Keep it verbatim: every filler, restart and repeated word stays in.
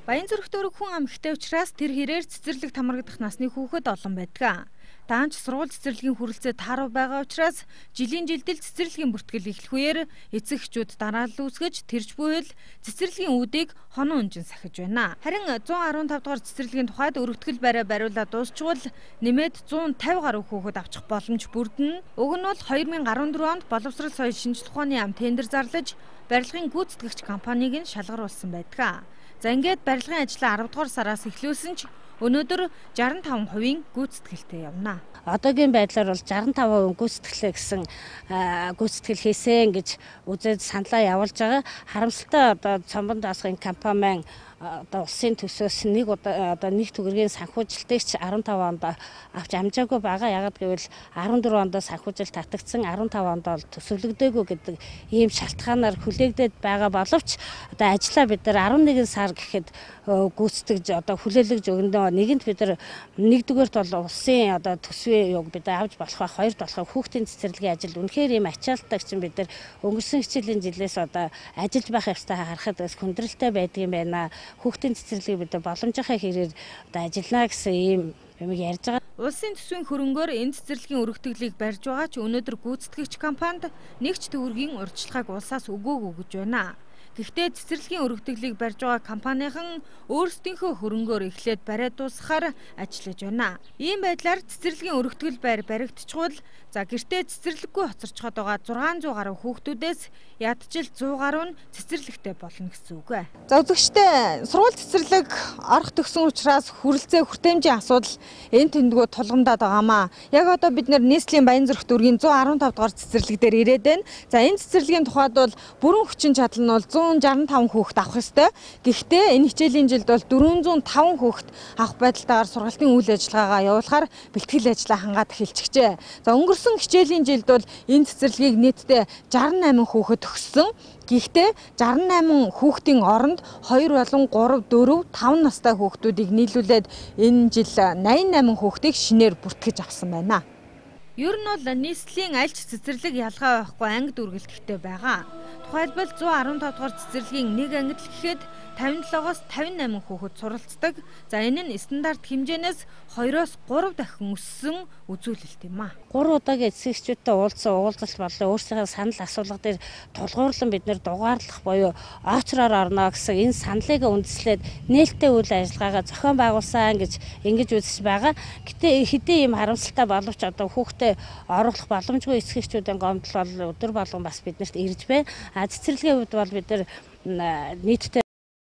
Баянзүрх дүүрэг хүн амхтай учраас тэр хэрээр цэцэрлэг тамаргадах насны хүүхэд олон байдаг. Даанч сургууль цэцэрлэгийн хүрэлцээ таарав байгаа учраас жилийн жилдэл цэцэрлэгийн бүртгэл эхлэх үеэр эцэг эхчүүд дараалал үүсгэж тэрж буйл цэцэрлэгийн үүдийг хонон унжин сахиж байна. Харин зуун арван тав дугаар цэцэрлэгийн тухайд өргөтгөл барай бариулаад дуусчвал нэмээд зуун тавь гаруй хүүхэд авчих боломж бүрдэнэ. Уг нь бол хоёр мянга арван дөрөв онд боловсрол соёл шинжилх ухааны ам тендер зарлаж барилгын гүйцэтгэгч компанийг нь шалгаруулсан байдаг. За ингээд барилгын ажлаа арав дугаар сараас эхлүүлсэн ч өнөөдөр шестдесет и пять хувийн гүйцэтгэлтэй явна. Одоогийн байдлаар бол шестдесет и пять хувийн гүйцэтгэлээ гэсэн гүйцэтгэл хийсэн гэж үзээд саналаа явуулж байгаа. Харамсалтай одоо цомбон даасгын компани маань одоо улсын төсөөс нэг одоо нэг төгрөгийн санхүүжилтийг ч арван тав онд авч амжаагүй байгаа. Ягаад гэвэл арван дөрөв онд санхүүжилт татагдсан, арван тав онд бол төсөвлөгдөөгүй гэдэг ийм шалтгаанаар хүлээгдээд байгаа боловч одоо ажлаа бид нар арван нэгэн сар гэхэд гүйцэтгэж одоо хүлээлгэж өгнө. Нэгэнт бид нар нэгдүгээрт бол улсын одоо төсвийн юг бид авч болох ба, хоёрт болох хүүхдийн цэцэрлэгийн ажил үнэхээр ийм ачаалттай чинь бид нар өнгөрсөн хичээлийн жилээс одоо ажиллаж байх явцтай харахад хүндрэлтэй байдгийм байна. Хүүхдийн цэцэрлэгийг бид боломжийнхаа хэрээр одоо ажиллана гэсэн ийм юм ярьж байгаа. Улсын төсвийн хөрөнгөөр энэ цэцэрлэгийн өргөтгөлийг барьж байгаа ч өнөөдөр гүйцэтгэгч компанид нэг ч төгрөгийн урьдчилгааг улсаас өгөөгүй гэж байна. Гэхдээ цэцэрлэгийн өргөтгөлийг барьж байгаа компанийн өөрсдийнхөө хөрөнгөөр эхлээд бариад дуусгахаар ажиллаж байна. Ийм байдлаар цэцэрлэгийн өргөтгөл байр баригдчихвал за гэртээ цэцэрлэггүй хоцорчход байгаа зургаан зуун гаруй хүүхдүүдээс ядчил зуун гаруй нь цэцэрлэгтэй болно гэсэн үг ээ. За үзэгчдээ сургууль цэцэрлэг орох төгсөн учраас хүрэлцээ хүртээмжийн асуудал энэ тэндгүү тулгамдаад байгаамаа. Яг одоо бид нэр нийслэлийн Баянзүрх дүүргийн зуун арван тав дугаар цэцэрлэг дээр ирээд байна. За энэ цэцэрлэгийн тухайд бол бүрэн хүчин чадал нь бол зуун шестьдесят и пять хүүхэд авах ёстой. Гэхдээ энэ хичээлийн жилд бол дөрвөн зуун таван хүүхэд авах байдалтайгаар сургалтын үйл ажиллагаагаа явуулахаар бэлтгэл ажлаа хангаад эхэлчихжээ. За өнгөрсөн хичээлийн жилд бол энэ цэцэрлэгийг нийтдээ шестьдесят и восемь хүүхэд өгсөн. Гэхдээ шестьдесят и восемь хүүхдийн оронд хоёр болон гурав, дөрөв, таван настай хүүхдүүдийг нийлүүлээд энэ жил восемьдесят и восемь хүүхдийг шинээр бүртгэж авсан байна. Ер нь бол нийслэлийн аль ч цэцэрлэг ялгаа байхгүй анги дүргэлттэй байгаа. Тухайлбал зуун арван тав дугаар цэцэрлэгийн нэг ангид л гэхэд тавин и седемоос тавин и восемь хүүхэд суралцдаг. За энэ нь стандарт хэмжээнээс хоёроос гурав дахин өссөн үзүүлэлт юм а. гурван удаагийн эцэг эхчүүдтэй уулзсан уулзалт болон өөрсдийнхээ санал асуулга дээр тулгуурлан бид нэр дугаарлах буюу очроор орно гэсэн энэ саналыг үндэслээд нээлттэй үйл ажиллагаагаа зохион байгуулсан гэж ингэж үзэж байгаа. Гэтэ хэдийн юм харамсалтай боловч одоо хүүхдээ оруулах боломжгүй эцэг эхчүүдийн гомдол бол өдөр болгон бас биднэрт ирж байна. А цэцэрлэгийн хувьд бол бид нар нийтдээ